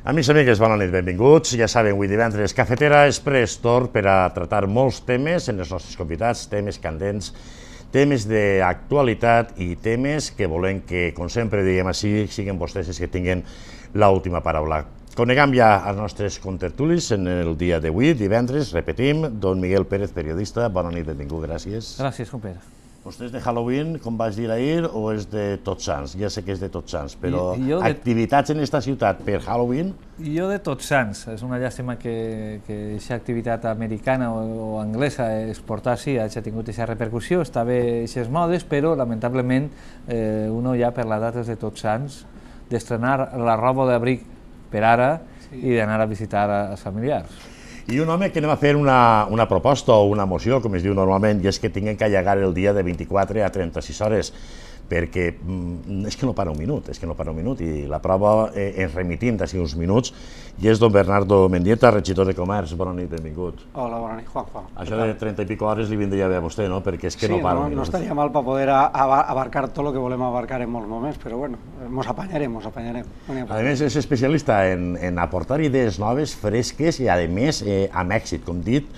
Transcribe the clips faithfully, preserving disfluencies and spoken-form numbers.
Amics i amigues, bona nit, benvinguts. Ja saben, avui divendres Cafetera Express Tor per a tratar molts temes en els nostres convidats, temes candents, temes d'actualitat i temes que volem que, com sempre diem així, siguin vostès els que tinguin l'última paraula. Coneguem ja els nostres contertulis en el dia d'avui, divendres, repetim, don Miguel Pérez, periodista, bona nit, benvingut, gràcies. Gràcies, compere. Vostè és de Halloween, com vaig dir ahir, o és de Tots Sants? Ja sé que és de Tots Sants, però jo de... activitats en esta ciutat per Halloween? Jo de Tots Sants. És una llàstima que aquesta activitat americana o, o anglesa exportar-s'hi hagi tingut aquesta repercussió. Està bé aquestes modes, però lamentablement eh, uno ja per la data de Tots Sants d'estrenar la roba d'abric per ara sí. I d'anar a visitar els familiars. I un home que anem a fer una, una proposta o una moció, com es diu normalment, i és que tinguin que allargar el dia de vint-i-quatre a trenta-sis hores, perquè mm, és que no para un minut, és que no para un minut, i la prova eh, ens remitim d'ací uns minuts, i és don Bernardo Mendieta, regidor de Comerç. Bona nit, benvingut. Hola, bona nit, Juanjo. Això de trenta i pico hores li vindria bé a vostè, no? Perquè és que sí, no para no, un minut. No estaria mal per poder abarcar tot el que volem abarcar en molts moments, però bueno, mos apanyarem, mos apanyarem. A més, és especialista en, en aportar idees noves, fresques i, a més, eh, amb èxit, com dit.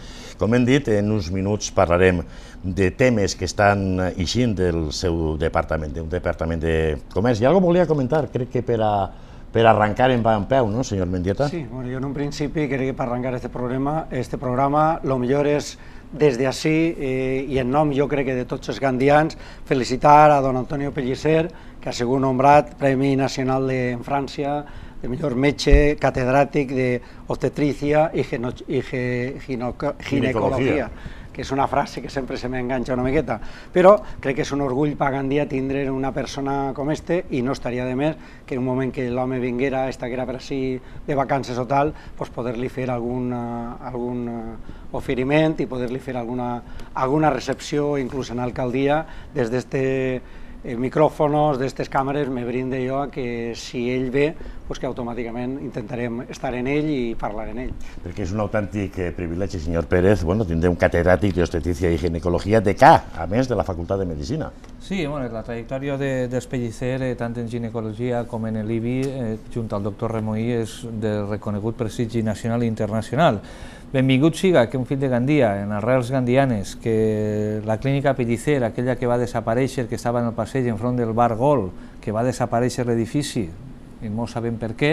Com hem dit, en uns minuts parlarem de temes que estan eixint del seu departament, d'un departament de comerç. I algo volia comentar, crec que per, a, per arrencar en va en peu, no, senyor Mendieta? Sí, bueno, jo en un principi crec que per arrencar este programa, este programa, lo millor és des d'ací, eh, i en nom jo crec que de tots els gandians, felicitar a don Antonio Pellicer, que ha sigut nombrat Premi Nacional de, en França, de millor metge catedràtic d'obstetrícia i, i ginecologia, que és una frase que sempre se m'enganxa una miqueta, però crec que és un orgull per Gandia tindre una persona com este, i no estaria de més que en un moment que l'home vinguera, estaguera per així de vacances o tal, pues poder-li fer algun, algun oferiment i poder-li fer alguna, alguna recepció, inclús en alcaldia, des d'este Eh, micròfonos d'estes càmeres me brinde jo a que si ell ve, pues que automàticament intentarem estar en ell i parlar en ell. Perquè és un autèntic eh, privilegi, senyor Pérez, bueno, tindre un catedràtic d'obstetrícia i ginecologia de Ca, a més de la Facultat de Medicina. Sí, bueno, la trajectòria de, dels Pellicer, eh, tant en ginecologia com en l'I B I, eh, junt al doctor Remoí, és de reconegut prestigi nacional i internacional. Benvingut siga que un fill de Gandia, en arrels gandianes, que la clínica Pellicer, aquella que va desaparèixer, que estava en el passeig enfront del bar Gol, que va desaparèixer l'edifici, i no sabem per què,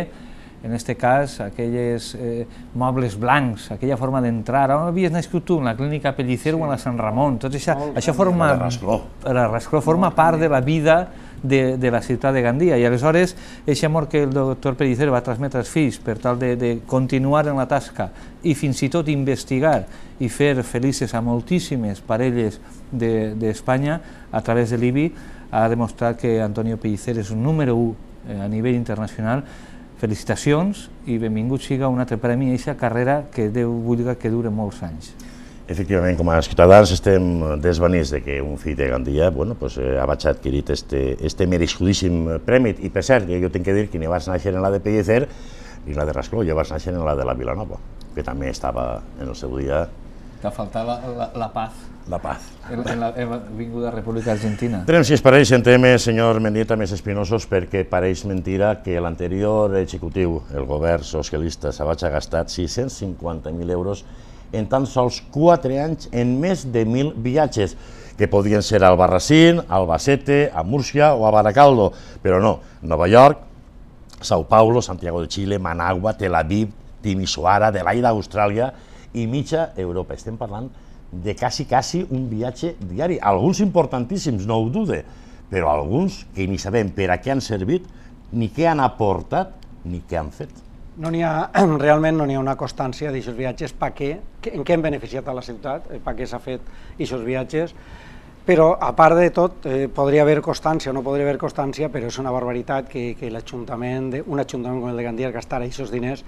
en aquest cas, aquells eh, mobles blancs, aquella forma d'entrar, on havies nascut tu, en la clínica Pellicer sí. O en la Sant Ramon, tot això, això forma, la Rascló. La Rascló forma part de la vida de, de la ciutat de Gandia, i aleshores, aquest amor que el doctor Pellicer va transmetre als fills per tal de, de continuar en la tasca i fins i tot investigar i fer felices a moltíssimes parelles d'Espanya de, a través de l'I B I, ha demostrat que Antonio Pellicer és un número u eh, a nivell internacional. Felicitacions i benvingut siga un altre premi a aquesta carrera que Déu vulga que dure molts anys. Efectivament, com a ciutadans estem desvanits de que un fill de Gandia bueno, pues, eh, ha adquirit este, este merescudíssim premi. I per cert, jo tinc que dir que ni vaig néixer en la de Pellicer ni la de Rascló, jo vaig néixer en la de la Vilanova, que també estava en el seu dia... Que faltava la, la, la paz. La paz. En, en la vinguda República Argentina. Entrem, si es pareix, en temes, senyor Mendieta, més espinosos, perquè pareix mentira que l'anterior executiu, el govern socialista, s'ha gastat sis-cents cinquanta mil euros en tan sols quatre anys en més de mil viatges, que podien ser a Albarracín, a Albacete, a Múrcia o a Baracaldo, però no, Nova York, Sao Paulo, Santiago de Chile, Managua, Tel Aviv, Timisoara, Adelaida, Austràlia i mitja Europa. Estem parlant de quasi, quasi un viatge diari, alguns importantíssims, no ho dude, però alguns que ni sabem per a què han servit, ni què han aportat, ni què han fet. No n'hi ha, realment no n'hi ha una constància d'aquests viatges, per què, en què han beneficiat a la ciutat, per què s'ha fet aquests viatges, però a part de tot eh, podria haver constància o no podria haver constància, però és una barbaritat que, que l'Ajuntament, un ajuntament com el de Gandia, gastara aquests diners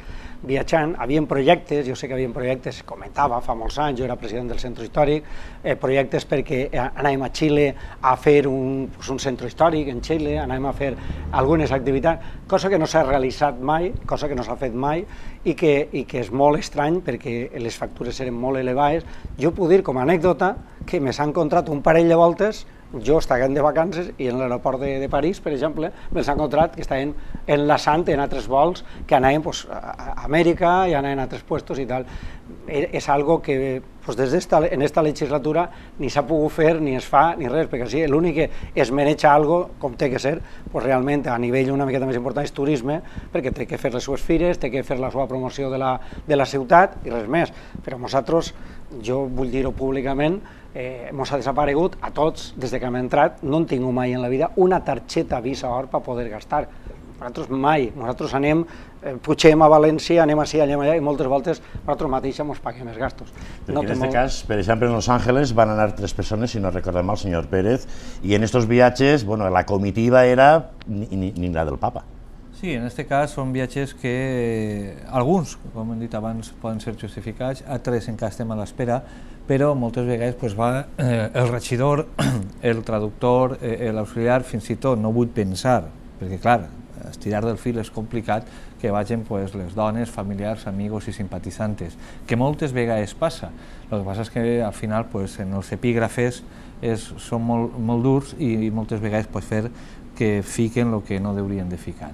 viatjant. Havien projectes, jo sé que havien projectes, comentava fa molts anys, jo era president del centre històric, eh, projectes perquè anàvem a Xile a fer un, pues, un centre històric en Xile, anàvem a fer algunes activitats, cosa que no s'ha realitzat mai, cosa que no s'ha fet mai, i que, i que és molt estrany perquè les factures eren molt elevades. Jo puc dir com a anècdota que me s'ha encontrat un parell de voltes jo estava de vacances i en l'aeroport de, de París, per exemple, me'ls he encontrat que estaven enlaçant en altres vols que anaven pues, a Amèrica i anaven a altres puestos i tal. És algo que pues, des d'esta, en esta legislatura ni s'ha pogut fer, ni es fa, ni res, perquè sí, l'únic que es maneja algo com té que ser, pues, realment a nivell una miqueta més important és turisme, perquè té que fer les seues fires, té que fer la seva promoció de la, de la ciutat i res més. Però nosaltres, jo vull dir-ho públicament, eh, mos ha desaparegut a tots des de que hem entrat, no en tingut mai en la vida una targeta Visa Or per poder gastar. Nosaltres mai, nosaltres anem, eh, pugem a València, anem així, anem allà i moltes voltes nosaltres mateixos ens paguem els gastos. Perquè no en aquest molt... cas, per exemple, en Los Ángeles van anar tres persones, si no recordem mal, el senyor Pérez, i en estos viatges, bueno, la comitiva era ni, ni, ni la del Papa. Sí, en aquest cas són viatges que eh, alguns, com hem dit abans, poden ser justificats, altres encara estem a l'espera, però moltes vegades pues, va eh, el regidor, el traductor, eh, l'auxiliar, fins i tot, no vull pensar, perquè clar, estirar del fil és complicat, que vagin pues, les dones, familiars, amigos i simpatitzantes, que moltes vegades passa. El que passa és que al final pues, en els epígrafes és, són molt, molt durs i, i moltes vegades pot fer que fiquen el que no haurien de ficar.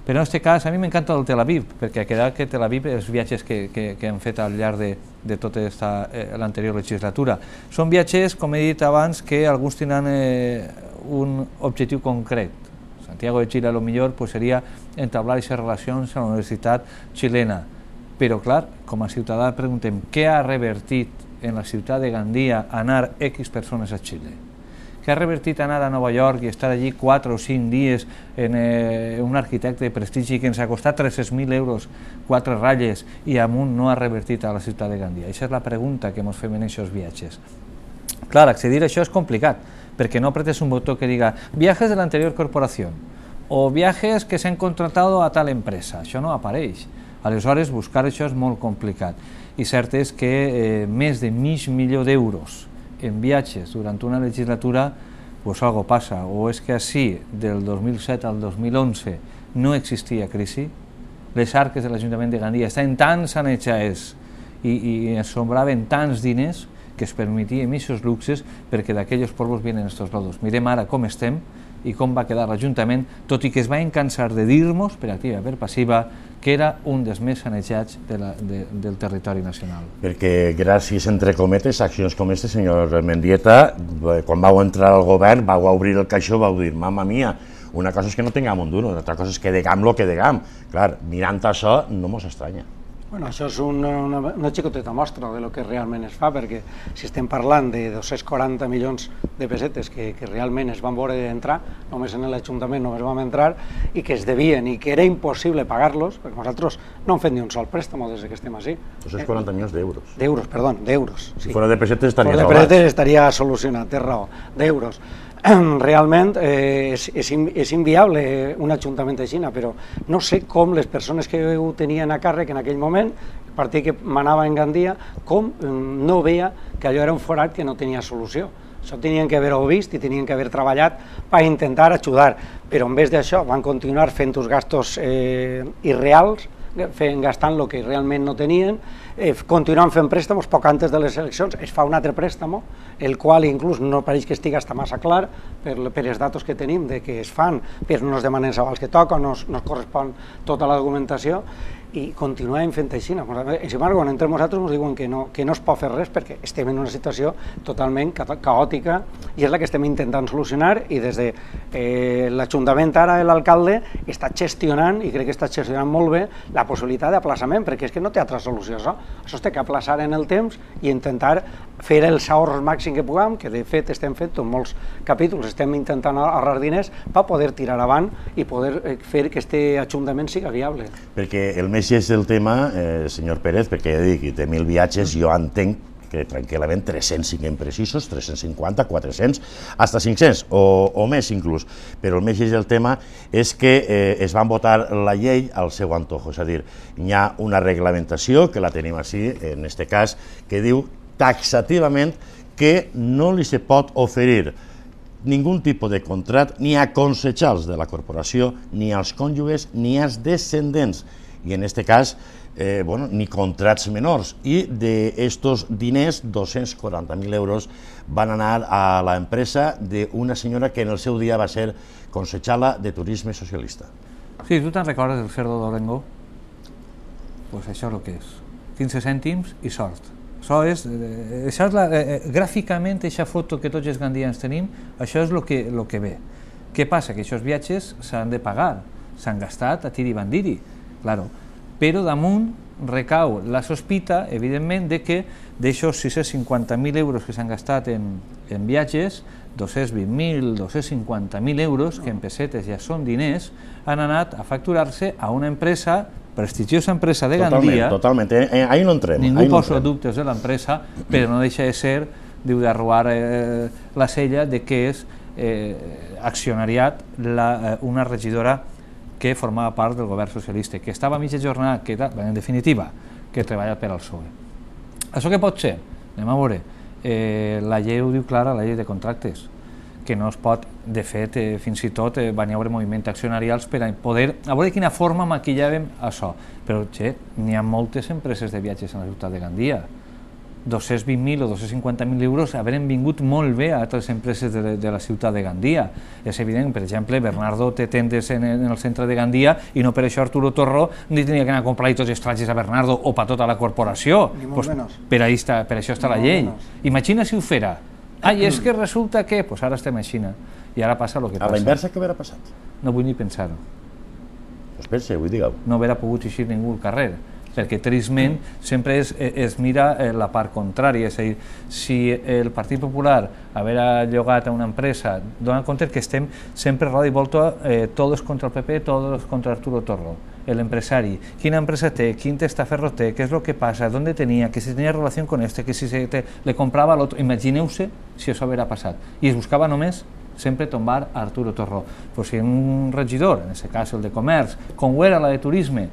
Però en aquest cas a mi m'encanta el Tel Aviv, perquè ha quedat que Tel Aviv, els viatges que, que, que hem fet al llarg de, de tota eh, l'anterior legislatura, són viatges, com he dit abans, que alguns tenen eh, un objectiu concret. Santiago de Chile a lo millor pues, seria entablar aquestes relacions a la Universitat Xilena. Però clar, com a ciutadà preguntem què ha revertit en la ciutat de Gandia anar X persones a Xile? Què ha revertit anar a Nova York i estar allí quatre o cinc dies en eh, un arquitecte de prestigi que ens ha costat tres-cents mil euros, quatre ratlles, i amunt no ha revertit a la ciutat de Gandia? Aquesta és la pregunta que ens fem en aquests viatges. Clar, accedir a això és complicat, perquè no apretes un botó que diga viajes de l'anterior corporació o viajes que s'han contratat a tal empresa. Això no apareix. Aleshores, buscar això és molt complicat. I cert és que eh, més de mig milió d'euros en viatges durant una legislatura, pues algo passa. O és que així, del dos mil set al dos mil onze, no existia crisi, les arques de l'Ajuntament de Gandia estaven tan sanejades i, i ens sobraven tants diners que es permetien aquests luxes perquè d'aquells polvos vienen estos lodos. Mirem ara com estem i com va quedar l'Ajuntament, tot i que es va encansar de dir-nos, per activa i per passiva, que era un dels més sanejats de la, de, del territori nacional. Perquè gràcies, entre cometes, a accions com aquesta, senyor Mendieta, quan vau entrar al govern, vau obrir el caixó, vau dir, mamma mia, una cosa és que no tinguem un duro, una altra cosa és que degam lo que degam. Clar, mirant això no mos estranya. Bueno, això és una, una, una xicoteta mostra de lo que realment es fa, perquè si estem parlant de dos-cents quaranta milions de pessetes que, que realment es van veure d'entrar, només en l'Ajuntament només vam entrar, i que es devien i que era impossible pagar-los, perquè nosaltres no hem fet ni un sol préstamo des que estem així. dos-cents quaranta milions d'euros. D'euros, perdó, d'euros. Sí. Fora de pessetes estaria salvat. Fora de pessetes estaria solucionat, té raó, d'euros. Realment eh, és, és, és inviable un ajuntament així, però no sé com les persones que ho tenien a càrrec en aquell moment, el partit que manava en Gandia, com no veia que allò era un forat que no tenia solució. Això tenien que haver-ho vist i tenien que haver treballat per intentar ajudar, però en vez d'això van continuar fent uns gastos eh, irreals, fent, gastant el que realment no tenien, eh, continuant fent préstamos, poc antes de les eleccions es fa un altre préstamo, el qual inclús no pareix que estigui hasta massa clar per, per els datos que tenim de que es fan, però no es demanen els avals que toca, no es, no es correspon tota la documentació, i continuem fent així. Sin embargo, quan entrem nosaltres ens diuen que no, que no es pot fer res perquè estem en una situació totalment caòtica i és la que estem intentant solucionar, i des de eh, l'Ajuntament ara l'alcalde està gestionant, i crec que està gestionant molt bé, la possibilitat d'aplaçament, perquè és que no té altra solució això. Això es té que aplaçar en el temps i intentar fer els ahorros màxim que puguem, que de fet estem fent en molts capítols, estem intentant ahorrar diners per poder tirar avant i poder fer que aquest Ajuntament siga viable. Perquè el més és el tema, eh, senyor Pérez, perquè ja dic, té mil viatges, jo entenc que tranquil·lament tres-cents siguem precisos, tres-cents cinquanta, quatre-cents, fins a cinc-cents o, o més inclús, però el més és el tema és que eh, es van votar la llei al seu antojo, és a dir, hi ha una reglamentació, que la tenim així, en aquest cas, que diu taxativament que no li se pot oferir ningú tipus de contrat ni a consellers de la corporació, ni als cònjuges, ni als descendents. i en aquest cas eh, bueno, ni contrats menors, i d'estos diners, dos-cents quaranta mil euros van anar a l'empresa d'una senyora que en el seu dia va ser consejala de turisme socialista. Sí, tu te'n recordes del cerdo d'Orengo? Pues això és el que és, quinze cèntims i sort. Això és, això és la, eh, gràficament, aquesta foto que tots els gandians tenim, això és el que, lo que ve. Què passa? Que aquests viatges s'han de pagar, s'han gastat a tiri bandiri, claro. Però damunt recau la sospita, evidentment, de que d'aixòs sis-cents cinquanta mil euros que s'han gastat en, en viatges, dos-cents vint mil, dos-cents cinquanta mil euros, que en pessetes ja són diners, han anat a facturar-se a una empresa, prestigiosa empresa de Gandia. Totalment, totalment, eh, ahí no entrem. Ningú posa dubtes de l'empresa, però no deixa de ser, diu, d'arrobar eh, la sella de que és eh, accionariat la, eh, una regidora que formava part del govern socialista, que estava a mitja jornada, que era, en definitiva, que treballa per al P S O E. Això què pot ser? Anem a veure. Eh, la llei ho diu clara, la llei de contractes, que no es pot, de fet, eh, fins i tot eh, van hi haure moviments accionarials per a poder, a veure de quina forma maquillàvem això. Però, che, n'hi ha moltes empreses de viatges a la ciutat de Gandia. dos-cents vint mil o dos-cents cinquanta mil euros haurem vingut molt bé a altres empreses de, de la ciutat de Gandia. És evident, per exemple, Bernardo té tendes en, en el centre de Gandia i no per això Arturo Torró ni tenia que anar a comprar tots els trajes a Bernardo o per tota la corporació. Pues, per, ahí està, per això està la llei. Imagina si ho fera. Ai, és que resulta que... Pues ara estem a Xina i ara passa el que passa. A la inversa, què haurà passat? No vull ni pensar-ho. Pues pense, vull dir-ho. No haurà pogut eixir ningú al carrer, perquè trisment sempre es, es mira la part contrària, és a dir, si el Partit Popular haver llogat a una empresa, dona compte que estem sempre roda i volta, eh, todos contra el P P, todos contra Arturo Torró, l'empresari, quina empresa té, quin testaferro té, què és el que passa, d'on tenia, que si tenia relació con este, que si se te, le comprava a l'altre, imagineu-se si això haurà passat, i es buscava només sempre tombar a Arturo Torró. Pues si un regidor, en aquest cas el de Comerç, com ho era la de Turisme,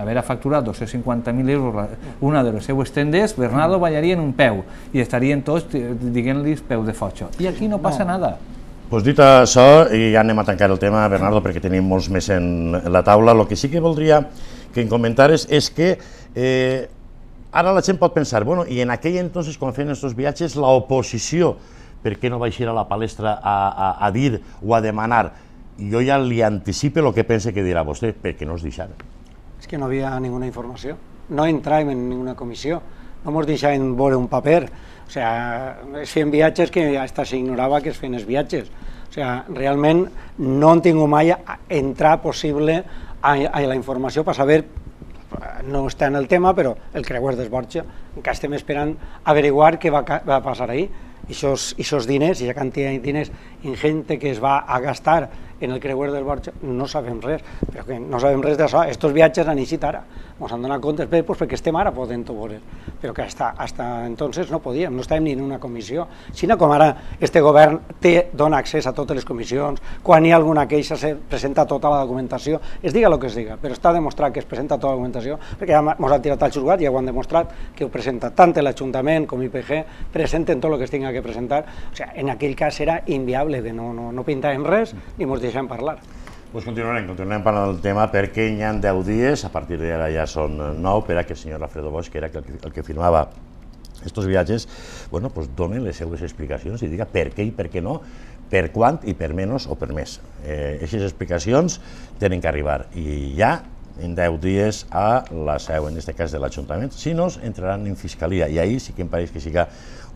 haver facturat dos-cents cinquanta mil euros una de les seues tendes, Bernardo ballaria en un peu i estarien tots dient-li peu de fotxo. I aquí no passa no. nada. Pues dit això, i ja anem a tancar el tema, Bernardo, perquè tenim molts més en la taula. El que sí que voldria que em comentares és que eh, ara la gent pot pensar, bueno, i en aquell entonces, quan feien aquests viatges, l'oposició, per què no va eixir a la palestra a, a, a dir o a demanar? Jo ja li anticipe el que pense que dirà vostè, perquè no es deixara. És que no havia ninguna informació, no entràvem en ninguna comissió, no ens deixaven veure un paper, o sigui, es feien viatges que hasta s'ignorava que es feien els viatges, o sigui, realment no han tingut mai entrar possible a, a la informació per saber, no està en el tema, però el creuer d'Esborja, encara estem esperant averiguar què va, va passar ahir, i aquests diners, i aquesta quantitat de diners ingente que es va a gastar en el creuer del Borja, no sabem res, però que no sabem res d'això. Estos viatges han eixit ara, ens han donat comptes, bé, pues perquè estem ara podent-ho veure, però que hasta, hasta entonces no podíem, no estàvem ni en una comissió. Sinó com ara este govern té, dona accés a totes les comissions, quan hi ha alguna queixa se presenta tota la documentació, es diga el que es diga, però està demostrat que es presenta tota la documentació, perquè ja ens han tirat al xurgat i ja ho han demostrat, que ho presenta tant l'Ajuntament com I P G, presenten tot el que es tinga que presentar, o sigui, en aquell cas era inviable, de no, no, no pintàvem res ni ens deixem parlar. Pues continuarem, continuarem parlant del tema perquè hi ha deu dies, a partir d'ara ja són nou, per a que el senyor Alfredo Bosch, que era el que, el que firmava estos viatges, bueno, pues doni les seues explicacions i diga per què i per què no, per quant i per menys o per més. Eh, aquestes explicacions tenen que arribar i ja en deu dies a la seu, en aquest cas de l'Ajuntament, si no, entraran en Fiscalia i ahí sí que em pareix que siga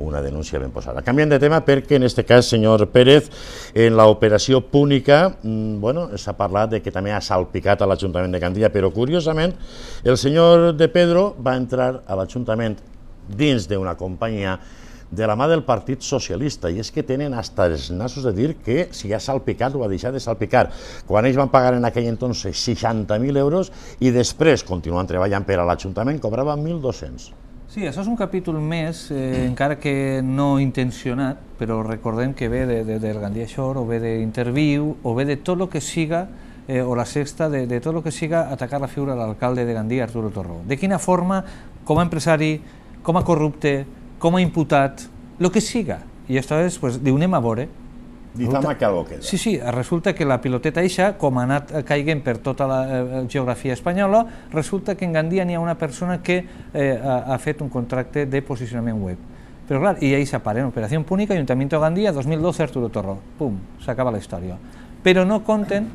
una denúncia ben posada. Canviem de tema perquè en aquest cas, senyor Pérez, en l'operació Púnica, bueno, s'ha parlat de que també ha salpicat a l'Ajuntament de Gandia, però curiosament el senyor de Pedro va entrar a l'Ajuntament dins d'una companyia de la mà del Partit Socialista, i és que tenen hasta els nassos de dir que si ha salpicat o ha deixat de salpicar, quan ells van pagar en aquell entonces seixanta mil euros i després, continuant treballant per a l'Ajuntament, cobraven mil dos-cents. Sí, això és un capítol més, eh, encara que no intencionat, però recordem que ve de, de, del Gandia Shore, o ve d'Interviu, o ve de tot el que siga, eh, o la sexta, de, de tot el que siga atacar la figura de l'alcalde de Gandia, Arturo Torró. De quina forma, com a empresari, com a corrupte, com a imputat, el que siga. I això és, pues, diu, anem a veure, Difama que algo queda. Sí, sí, resulta que la piloteta eixa, com ha anat caiguent per tota la eh, geografia espanyola, resulta que en Gandia n'hi ha una persona que eh, ha, ha fet un contracte de posicionament web. Però clar, i ahí s'aparen, Operació Púnica, Ayuntamiento de Gandia, dos mil doce, Arturo Torró. Pum, s'acaba la història. Però no conten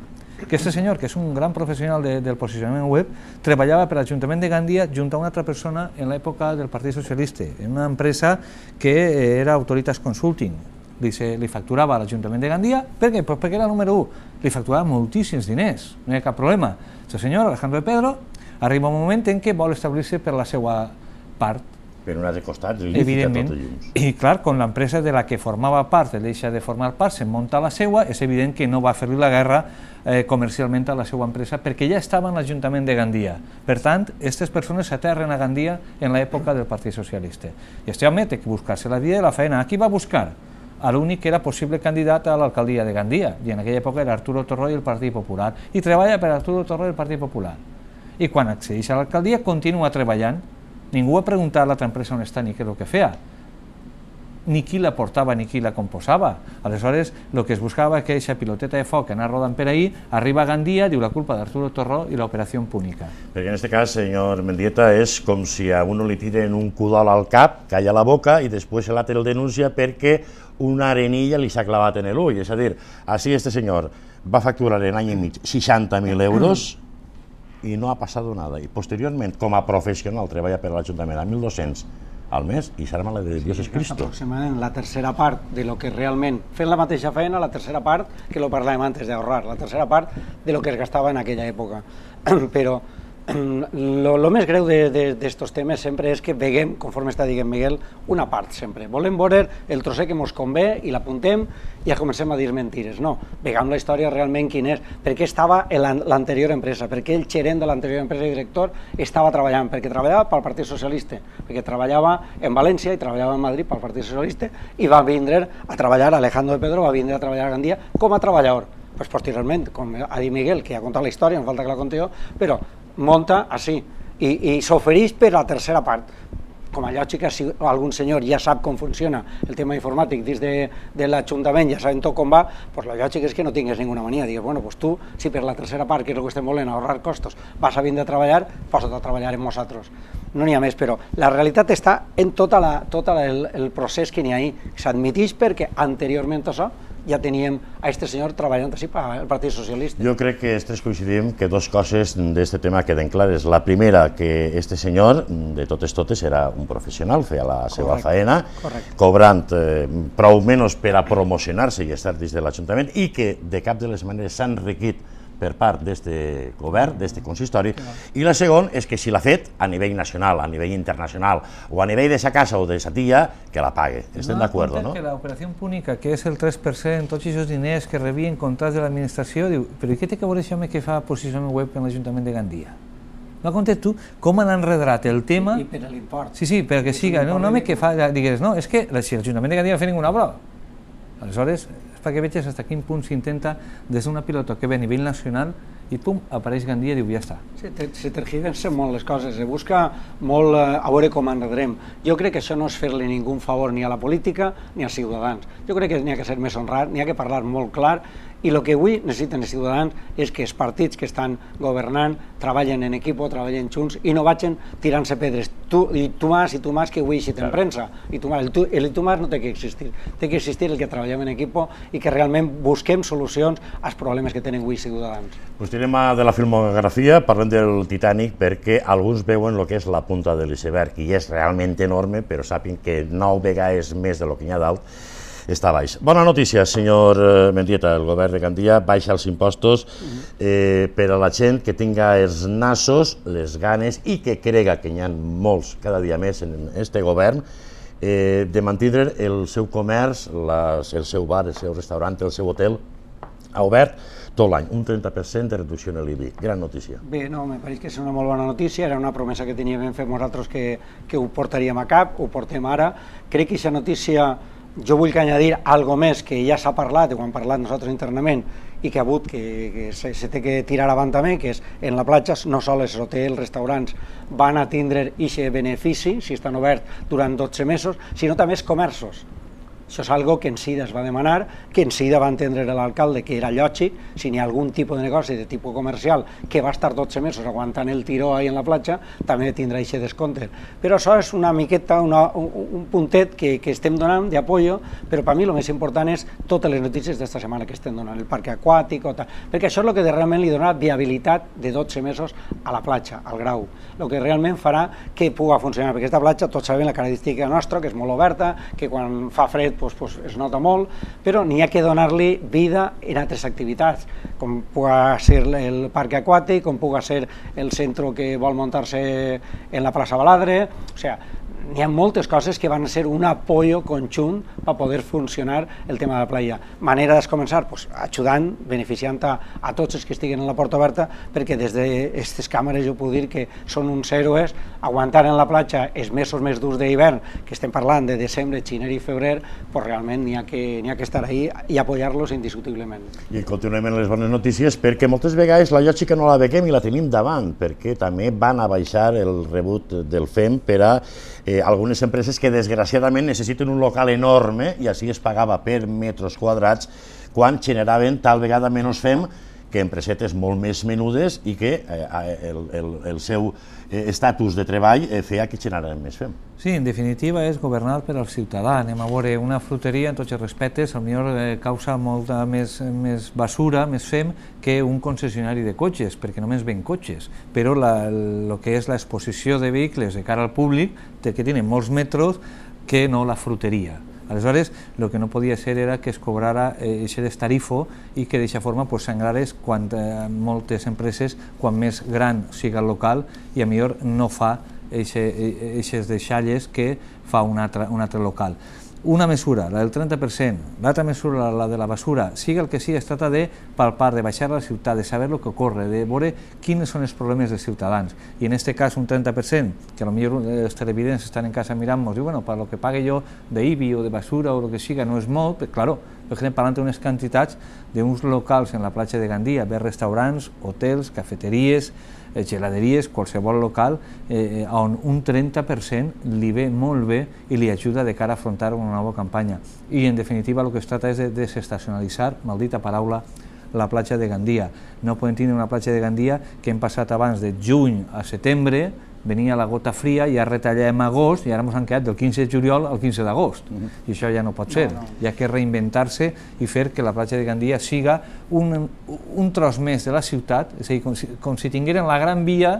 que este senyor, que és un gran professional de, del posicionament web, treballava per l'Ajuntament de Gandia junt a una altra persona en l'època del Partit Socialista, en una empresa que era Autoritas Consulting. Li, se, li facturava a l'Ajuntament de Gandia. Per què? Pues perquè era el número u. Li facturava moltíssims diners, no hi ha cap problema. El senyor Alejandro de Pedro arriba un moment en què vol establir-se per la seva part. Per un altre costat, evidentment. I clar, quan l'empresa de la que formava part deixa de formar part, se'n munta la seua, és evident que no va fer-li la guerra eh, comercialment a la seva empresa perquè ja estava en l'Ajuntament de Gandia. Per tant, aquestes persones s'aterren a Gandia en l'època del Partit Socialista. I este home té que buscar-se la vida i la feina. A qui va buscar? A l'únic que era possible candidat a l'alcaldia de Gandia, i en aquella època era Arturo Torró i el Partit Popular, i treballa per Arturo Torró i el Partit Popular. I quan accedeix a l'alcaldia continua treballant. Ningú ha preguntat a l'altra empresa on està ni què és el que feia, ni qui la portava ni qui la composava. Aleshores, el que es buscava que aquesta piloteta de foc que anava rodant per ahí, arriba a Gandia, diu la culpa d'Arturo Torró i l'operació Púnica. Perquè en aquest cas, senyor Mendieta, és com si a uno li tiren un cudol al cap, calla la boca i després l'altre el denuncia perquè una arenilla li s'ha clavat en l'ull. És a dir, així este senyor va facturar en any i mig seixanta mil euros i no ha passat nada. I posteriorment, com a professional, treballa per l'Ajuntament a mil dos-cents al mes i s'arma la de Dios es Cristo. Aproximadament la tercera part de lo que realment, fent la mateixa feina, la tercera part, que lo parlàvem antes d'ahorrar, la tercera part de lo que es gastava en aquella època. Però lo, lo més greu d'estos temes sempre és que veiem, conforme està dient Miguel, una part sempre. Volem veure el trosset que ens convé i l'apuntem i ja comencem a dir mentires. No, veiem la història realment quin és, per què estava l'anterior empresa, per què el gerent de l'anterior empresa i director estava treballant, perquè treballava pel Partit Socialista, perquè treballava en València i treballava en Madrid pel Partit Socialista i va vindre a treballar, Alejandro de Pedro va vindre a treballar a Gandia com a treballador. Pues posteriorment, com ha dit Miguel, que ha contat la història, no falta que la conti jo, però monta així i, i s'ofereix per la tercera part. Com a lògic, si algun senyor ja sap com funciona el tema informàtic dins de, de l'Ajuntament, ja sabem tot com va, pues la lògic és que no tingues ninguna mania. Digues, bueno, pues tu, si per la tercera part, que és el que estem volent, ahorrar costos, vas a vindre a treballar, posa't a treballar amb nosaltres. No n'hi ha més, però la realitat està en tot el, el procés que n'hi ha ahí. S'admiteix perquè anteriorment a això ja teníem a aquest senyor treballant així pel Partit Socialista. Jo crec que estes coincidim que dos coses d'aquest tema queden clares. La primera, que este senyor, de totes totes, era un professional, feia la seva faena, cobrant eh, prou menys per a promocionar-se i estar dins de l'Ajuntament, i que de cap de les maneres s'ha enriquit per part d'aquest govern, d'aquest consistori. I la segona és que si l'ha fet a nivell nacional, a nivell internacional, o a nivell de sa casa o de sa tia, que la pague. Estem d'acord, no? Que l'operació Púnica, que és el tres per cent, tots aquests diners que rebien contrats de l'administració, diu, però què té que veure això que fa posicionament web en l'Ajuntament de Gandia? No comptes tu com han enredrat el tema... I per l'import. Sí, sí, perquè siga un home que fa... Digues, no, és que si l'Ajuntament de Gandia no fa ninguna obra. Aleshores, perquè veig fins a quin punt s'intenta des d'una pilota que ve a nivell nacional i pum, apareix Gandia i diu, ja està. Se tergiversen molt les coses, se busca molt a veure com enredrem. Jo crec que això no és fer-li ningú favor ni a la política ni als ciutadans. Jo crec que n'hi ha que ser més honrat, n'hi ha que parlar molt clar, i el que avui necessiten els ciutadans és que els partits que estan governant treballen en equip, treballen junts i no vagin tirant-se pedres. Tu i tu més i tu més que avui així en premsa. I tu més, el tu, el tu més no té que existir. Té que existir el que treballem en equip i que realment busquem solucions als problemes que tenen avui els ciutadans. Pues tirem de la filmografia, parlem del Titanic, perquè alguns veuen el que és la punta de l'iceberg i és realment enorme, però sàpiguen que nou vegades més del que hi ha dalt està baix. Bona notícia, senyor Mendieta, el govern de Gandia baixa els impostos eh, per a la gent que tinga els nassos, les ganes i que crega que n'hi ha molts cada dia més en aquest govern eh, de mantindre el seu comerç, les, el seu bar, el seu restaurant, el seu hotel ha obert tot l'any, un trenta per cent de reducció en l'I B I. Gran notícia. Bé, no, me pareix que és una molt bona notícia, era una promesa que teníem fet nosaltres que, que ho portaríem a cap, ho portem ara. Crec que aquesta notícia, jo vull que añadir algo més que ja s'ha parlat, ho hem parlat nosaltres internament, i que ha hagut que, que se, se té que tirar avant també, que és en la platja no sols els hotels, restaurants van a tindre aquest benefici, si estan oberts durant dotze mesos, sinó també els comerços. Això és algo que en Sida es va demanar, que en Sida va entendre l'alcalde que era lògic, si n'hi ha algun tipus de negoci de tipus comercial que va estar dotze mesos aguantant el tiró ahí en la platja, també tindrà aquest descompte. Però això és una miqueta, una, un, un puntet que, que estem donant d'apoyo, però per mi el més important és totes les notícies d'esta setmana que estem donant, el parc aquàtic o tal, perquè això és el que realment li donarà viabilitat de dotze mesos a la platja, al Grau, el que realment farà que pugui funcionar, perquè aquesta platja tots sabem la característica nostra, que és molt oberta, que quan fa fred pues, pues, es nota molt, però n'hi ha que donar-li vida en altres activitats, com pugui ser el parc aquàtic, com pugui ser el centre que vol muntar-se en la plaça Baladre, o sigui, n'hi ha moltes coses que van ser un apoyo conjunt per poder funcionar el tema de la playa. Manera de començar? Pues, ajudant, beneficiant a, a tots els que estiguen en la porta oberta, perquè des d'aquestes càmeres jo puc dir que són uns héroes, aguantant en la platja els mesos més durs d'hivern, que estem parlant de desembre, gener i febrer, pues realment n'hi ha, que, n'hi ha que estar ahí i apoyar-los indiscutiblement. I continuem en les bones notícies, perquè moltes vegades la lògica no la veiem i la tenim davant, perquè també van a baixar el rebut del F E M per a eh, algunes empreses que desgraciadament necessiten un local enorme i així es pagava per metres quadrats quan generaven tal vegada menys F E M que empresetes molt més menudes i que eh, el, el, el seu estatus de treball eh, feia que generaven més F E M. Sí, en definitiva és governar per al ciutadà. Anem a veure una fruteria, en tots els respectes, potser eh, causa molta més, més basura, més F E M, que un concessionari de cotxes, perquè només ven cotxes, però el que és l'exposició de vehicles de cara al públic, que tenen molts metres, que no la fruteria. Aleshores, el que no podia ser era que es cobrara aquest tarifo i que d'aquesta forma s'engradés moltes empreses, quan més gran siga el local i a millor no fa aquestes deixalles que fa un altre, un altre local. Una mesura, la del trenta per cent, l'altra mesura, la de la basura, siga el que sigui, es tracta de palpar, de baixar a la ciutat, de saber el que ocorre, de veure quins són els problemes dels ciutadans. I en aquest cas un trenta per cent, que potser els televidents estan en casa mirant-nos, diu, bueno, per lo que pague jo d'I B I o de basura o el que siga no és molt, però, claro, estem parlant d'unes quantitats d'uns locals en la platja de Gandia, bé restaurants, hotels, cafeteries, geladeries, qualsevol local, eh, on un trenta per cent li ve molt bé i li ajuda de cara a afrontar una nova campanya. I, en definitiva, el que es tracta és de desestacionalitzar, maldita paraula, la platja de Gandia. No podem tenir una platja de Gandia que hem passat abans de juny a setembre, venia la gota fria, ja retallem agost i ara ens han quedat del quinze de juliol al quinze d'agost. Uh-huh. I això ja no pot ser. No, no. Hi ha que reinventar-se i fer que la platja de Gandia siga un, un tros més de la ciutat, és a dir, com si, com si tingueren la gran via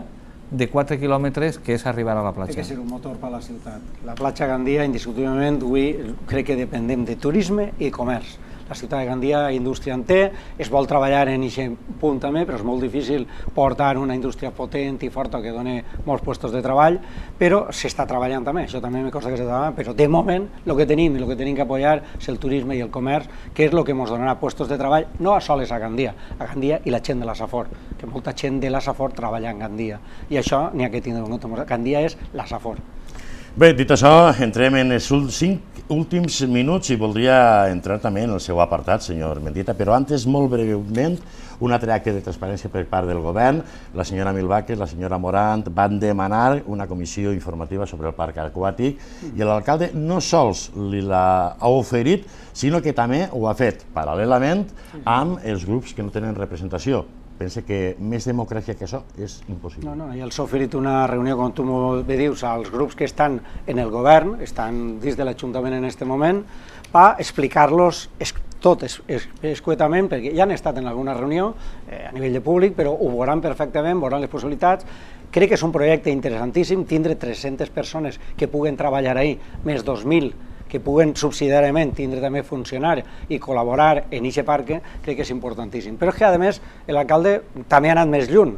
de quatre quilòmetres que és arribar a la platja. Té que ser un motor per a la ciutat. La platja Gandia, indiscutiblement, avui crec que dependem de turisme i comerç. La ciutat de Gandia indústria en té, es vol treballar en aquest punt també, però és molt difícil portar una indústria potent i forta que doni molts llocs de treball, però s'està treballant també, això també me costa que s'està treballant, però de moment el que tenim i el que tenim que apoyar és el turisme i el comerç, que és el que ens donarà llocs de treball, no a soles a Gandia, a Gandia i la gent de la Safor, que molta gent de la Safor treballa en Gandia, i això n'hi ha que tindre en compte, Gandia és la Safor. Bé, dit això, entrem en els cinc últims minuts i voldria entrar també en el seu apartat, senyor Mendieta, però antes, molt breument, un altre acte de transparència per part del govern. La senyora Milvaques, la senyora Morant van demanar una comissió informativa sobre el parc aquàtic i l'alcalde no sols li l'ha oferit, sinó que també ho ha fet paral·lelament amb els grups que no tenen representació. Pensa que més democràcia que això és impossible. No, no, ja els ha oferit una reunió, com tu bé dius, als grups que estan en el govern, estan dins de l'Ajuntament en aquest moment, per explicar-los tot escuetament, perquè ja han estat en alguna reunió a nivell de públic, però ho veuran perfectament, veuran les possibilitats. Crec que és un projecte interessantíssim, tindre tres-centes persones que puguen treballar ahí, més dos mil que puguen subsidiàriament tindre també funcionar i col·laborar en aquest parc, crec que és importantíssim. Però és que, a més, l'alcalde també ha anat més lluny.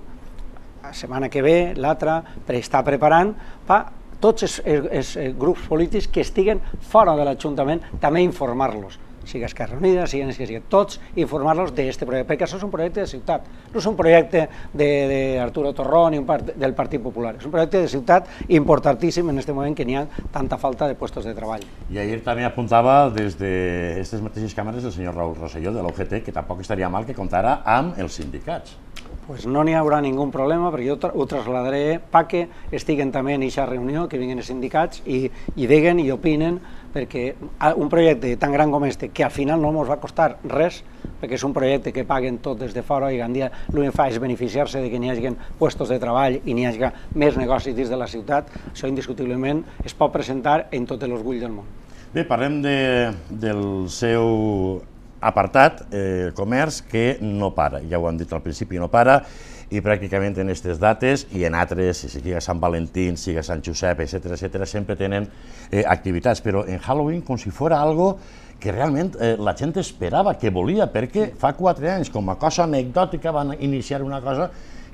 La setmana que ve, l'altra, per estar preparant per tots els, els grups polítics que estiguen fora de l'Ajuntament, també informar-los. Siga Esquerra Unida, siguen els que siguin, tots informar-los d'aquest projecte, perquè això és un projecte de ciutat, no és un projecte d'Arturo Torró ni del Partit Popular, és un projecte de ciutat importantíssim en aquest moment que n'hi ha tanta falta de llocs de treball. I ahir també apuntava des d'aquestes mateixes càmeres el senyor Raúl Rosselló de l'U G T que tampoc estaria mal que comptara amb els sindicats. Pues no n'hi haurà ningú problema, perquè jo ho trasladaré perquè estiguen també en aquesta reunió, que vinguin els sindicats i, i diguen i opinen perquè un projecte tan gran com este, que al final no ens va costar res, perquè és un projecte que paguen tot des de fora i Gandia l'únic que fa és beneficiar-se de que n'hi hagi puestos de treball i n'hi hagi més negocis dins de la ciutat. Això indiscutiblement es pot presentar en tots els orgulls del món. Bé, parlem del seu apartat, el comerç, que no para, ja ho hem dit al principi, no para, i pràcticament en aquestes dates i en altres, sigui Sant Valentín, sigui Sant Josep, etcètera, etcètera, sempre tenen activitats, però en Halloween com si fos algo que realment la gent esperava, que volia, perquè fa quatre anys, com a cosa anecdòtica, van iniciar una cosa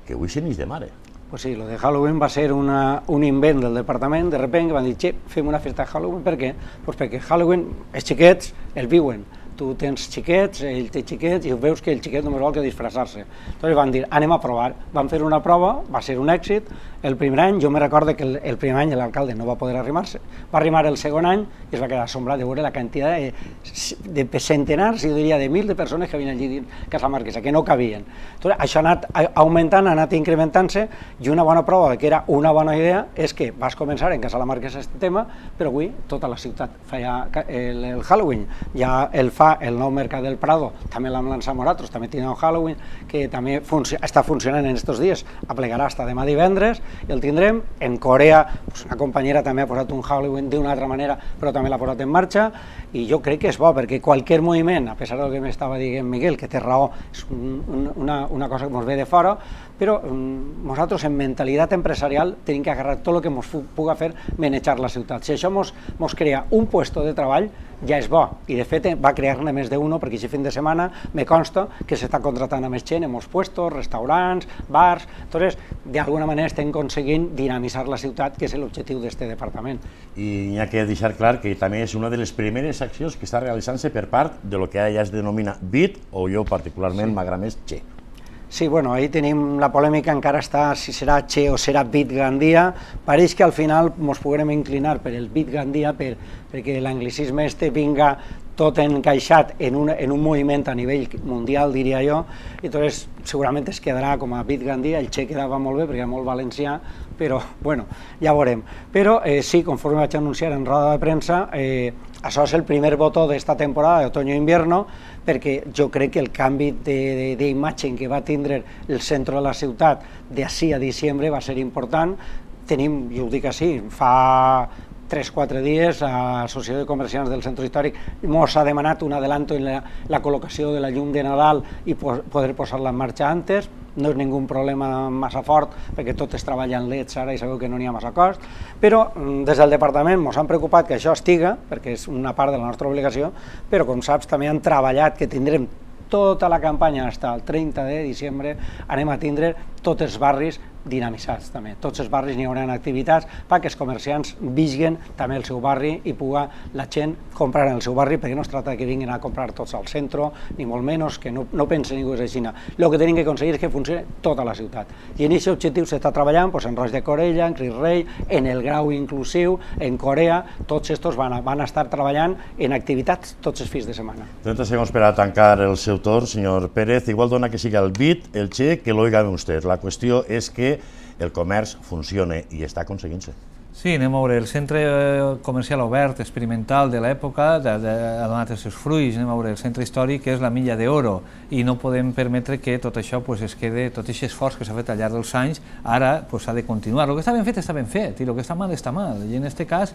que avui se n'és de mare. Pues sí, lo de Halloween va ser una, un invent del departament, de repente van dir, che, fem una festa de Halloween, per què? Pues perquè Halloween, els xiquets el viuen. Tu tens xiquets, ell té xiquets, i veus que el xiquet només vol que disfressar-se. Llavors van dir, anem a provar. Van fer una prova, va ser un èxit. El primer any, jo me recordo que el, el primer any l'alcalde no va poder arrimar-se. Va arrimar el segon any i es va quedar assombrat de veure la quantitat de, de centenars, i diria de mil de persones que havien allí dins Casa Marquesa, que no cabien. Entonces, això ha anat augmentant, ha anat incrementant-se, i una bona prova que era una bona idea és que vas començar en Casa Marquesa aquest tema, però avui tota la ciutat feia el, el Halloween. Ja el fa el nou Mercat del Prado, també l'hem lançat nosaltres, també tindrà un Halloween que també func està funcionant en aquests dies, aplegarà fins demà divendres, i el tindrem. En Corea, pues una companyera també ha posat un Halloween d'una altra manera, però també l'ha posat en marxa, i jo crec que és bo, perquè qualsevol moviment, a pesar del que m'estava dient Miguel, que té raó, és un, un, una, una cosa que ens ve de fora, però um, nosaltres en mentalitat empresarial tenim que agarrar tot el que ens puga fer manejar la ciutat. Si això ens crea un puesto de treball, ja és bo, i de fet va crear-ne més d'uno, perquè aquest fin de setmana me consta que s'està contratant a més gent en molts puestos, restaurants, bars. Entonces, d'alguna manera estem aconseguint dinamitzar la ciutat, que és l'objectiu d'aquest departament. I hi ha que deixar clar que també és una de les primeres accions que està realitzant-se per part de lo que ja es denomina B I T, o jo particularment m'agrada més Che. Sí, bueno, ahí tenim la polèmica, encara està si serà Che o serà B I T Gandia. Pareix que al final ens podrem inclinar per el B I T Gandia per, perquè l'anglicisme este vinga tot encaixat en un, en un moviment a nivell mundial, diria jo, i entonces segurament es quedarà com a B I T Gandia. El Che quedava molt bé perquè era molt valencià, però bueno, ja veurem. Però eh, sí, conforme vaig anunciar en roda de premsa, eh, això és el primer botó d'esta temporada d'otoño-invierno, perquè jo crec que el canvi d'imatge que va tindre el centre de la ciutat d'ací a diciembre va ser important. Tenim, jo ho dic així, fa tres o quatre dies a l'Associació de Comerciants del Centre Històric ens ha demanat un adelanto en la, la col·locació de la llum de Nadal i po poder posar-la en marxa antes. No és ningú problema massa fort, perquè tot es treballa en leds ara i sabeu que no n'hi ha massa cost, però des del departament ens han preocupat que això estiga, perquè és una part de la nostra obligació, però com saps també han treballat que tindrem tota la campanya fins al trenta de desembre, anem a tindre tots els barris dinamitzats també. Tots els barris n'hi haurà activitats perquè els comerciants visquen també el seu barri i pugui la gent comprar en el seu barri, perquè no es tracta que vinguin a comprar tots al centre, ni molt menys, que no, no pense ningú és així. El que tenim que aconseguir és que funcioni tota la ciutat. I en aquest objectiu s'està treballant pues, en Roig de Corella, en Cris Rei, en el grau inclusiu, en Corea, tots estos van a, van a estar treballant en activitats tots els fins de setmana. trenta segons per a tancar el seu torn, senyor Pérez. Igual dona que siga el B I T, el Che, que lo oiga usted. La qüestió és que el comerç funciona i està aconseguint-se. Sí, anem a veure, el centre comercial obert, experimental de l'època, ha donat els seus fruits, anem a veure, el centre històric és la milla d'oro, i no podem permetre que tot això es quede, tot aquest esforç que s'ha fet al llarg dels anys, ara s'ha de continuar. El que està ben fet està ben fet, i el que està mal està mal, i en aquest cas,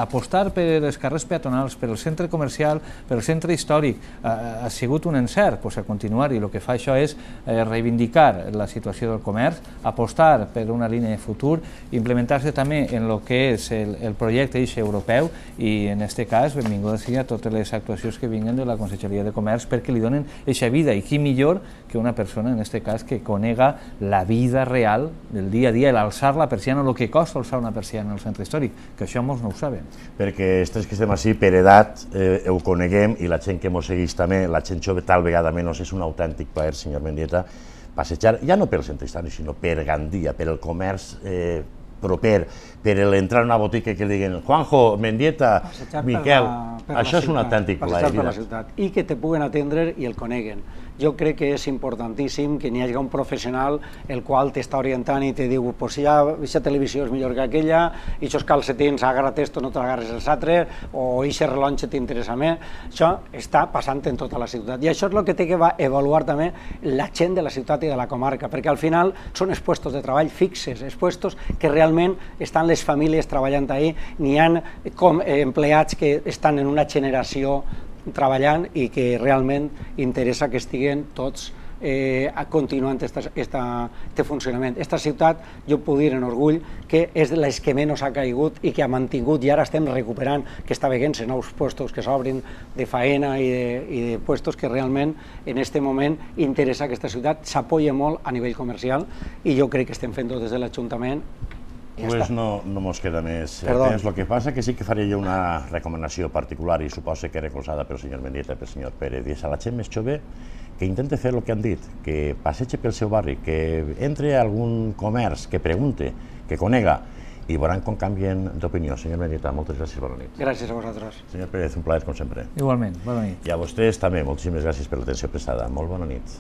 apostar per els carrers peatonals, per el centre comercial, per el centre històric, ha sigut un encert a continuar, i el que fa això és reivindicar la situació del comerç, apostar per una línia de futur, implementar-se també en el que és el, el projecte eix europeu, i en aquest cas benvinguda sigui a totes les actuacions que vinguen de la Conselleria de Comerç perquè li donen eixa vida, i qui millor que una persona en aquest cas que conega la vida real del dia a dia, l'alçar la persiana, el que costa alçar una persiana al centre històric, que això molts no ho saben. Perquè els tres que estem així per edat eh, ho coneguem, i la gent que mos segueix també, la gent jove tal vegada menys, és un autèntic plaer, senyor Mendieta, passejar, ja no pel centre històric, sinó per Gandia, per el comerç eh, proper, per entrar a una botica que li diguin Juanjo, Mendieta, Miquel, això és un autèntic plaer. I que te puguen atendre i el coneguen. jo crec que és importantíssim que n'hi hagi un professional el qual t'està orientant i te diu pues si ja aquesta televisió és millor que aquella, i aquests calcetins agarra't esto, no t'agarres els altres, o aquest rellotge t'interessa més. Això està passant en tota la ciutat, i això és el que té que avaluar també la gent de la ciutat i de la comarca, perquè al final són els puestos de treball fixes, els puestos que realment estan les famílies treballant ahí, n'hi ha com empleats que estan en una generació treballant i que realment interessa que estiguen tots eh, continuant aquest funcionament. Aquesta ciutat, jo puc dir en orgull, que és de les que menys ha caigut i que ha mantingut, i ara estem recuperant, que està veient-se nous puestos que s'obrin de faena i de, i de puestos que realment en aquest moment interessa que aquesta ciutat s'apoya molt a nivell comercial, i jo crec que estem fent-ho des de l'Ajuntament. Pues no, no mos queda més temps. El que passa que sí que faré jo una recomanació particular, i suposo que recolzada pel senyor Mendieta i pel senyor Pérez, i és a la gent més jove que intente fer el que han dit, que passegi pel seu barri, que entre a algun comerç, que pregunte, que conega, i veuran com canvien d'opinió. Senyor Mendieta, moltes gràcies, bona nit. Gràcies a vosaltres. Senyor Pérez, un plaer com sempre. Igualment, bona nit. I a vostès també, moltíssimes gràcies per l'atenció prestada. Molt bona nit.